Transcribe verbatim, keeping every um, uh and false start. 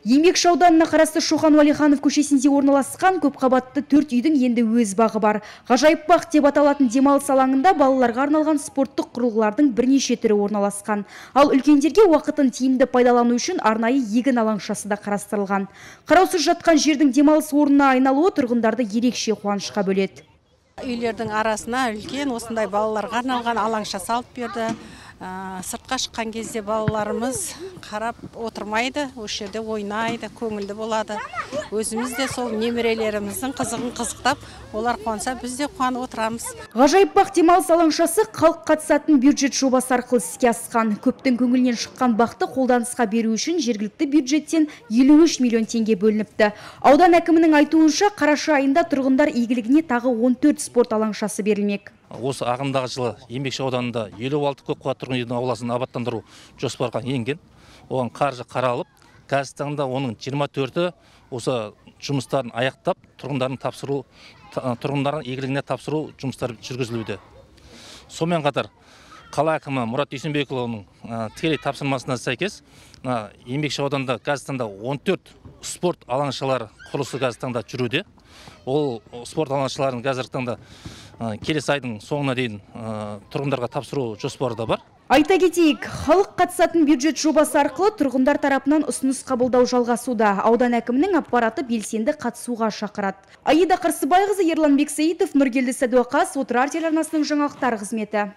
Еңбекші ауданына қарасты Шоқан Уәлиханов көшесінде орналасқан көпқабатты төрт үйдің енді өз бағы бар. Ғажайып бақ деп аталатын демалыс алаңында балаларға арналған спорттық құрылғылардың бірнеше түрі орналасқан. Ал үлкендерге уақытын тиімді пайдалану үшін арнайы егін алаңшасы да қарастырылған. Қараусыз жатқан жердің демалыс орнына айналуы тұрғындарды ерекше қуанышқа бөледі. Үйлердің арасына үлкен осындай балаларға арналған алаңша салып берді. Сыртқа шыққан кезде балаларымыз қарап отырмайды, осы жерде ойнайды, көңілді болады. Өзіміз де сол немерелеріміздің қызығын қызықтап, олар қуанса, біз де қуанып отырамыз. Ғажайып бақ демалыс алаңшасы халық қатысатын бюджет жобасы арқылы іске асқан. Көптің көңілінен шыққан бақты қолданысқа беру үшін жергілікті бюджеттен елу үш миллион теңге бөлініпті. Аудан әкімінің айтуынша, қараша айында тұрғындар игілігіне тағы он төрт спорт алаңшасы берілмек. Осы ағымдағы жылы Еңбекші ауданында елу алты көпқабатты тұрғын үйдің ауласын абаттандыру жоспарға енген. Оған қаржы қаралып, қазіргі таңда оның жиырма төрті осы жұмыстарын аяқтап, тұрғындардың тапсыру, тұрғындардың игілігіне тапсыру жұмыстары жүргізілуде. Сонымен қатар қала әкімі Мұрат Дүйсенбекұлының тікелей тапсырмасына сәйкес, Еңбекші ауданында қазіргі таңда он төрт спорт алаңшалары құрылысы қазіргі таңда жүруде. Ол спорт алаңшаларын қазіргі таңда келесі айдың соңына дейін тұрғындарға тапсыру жоспары да бар. Айта кетейік, халық қатысатын бюджет жобасы арқылы тұрғындар тарапынан ұсыныс қабылдау жалғасуда. Аудан әкімінің аппараты белсенді қатысуға шақырады. Аида Қарсыбайқызы, Ерлан Бексейітов, Нұргелді Сәдуақас, Отырар телеарнасының жаңалықтар қызметі.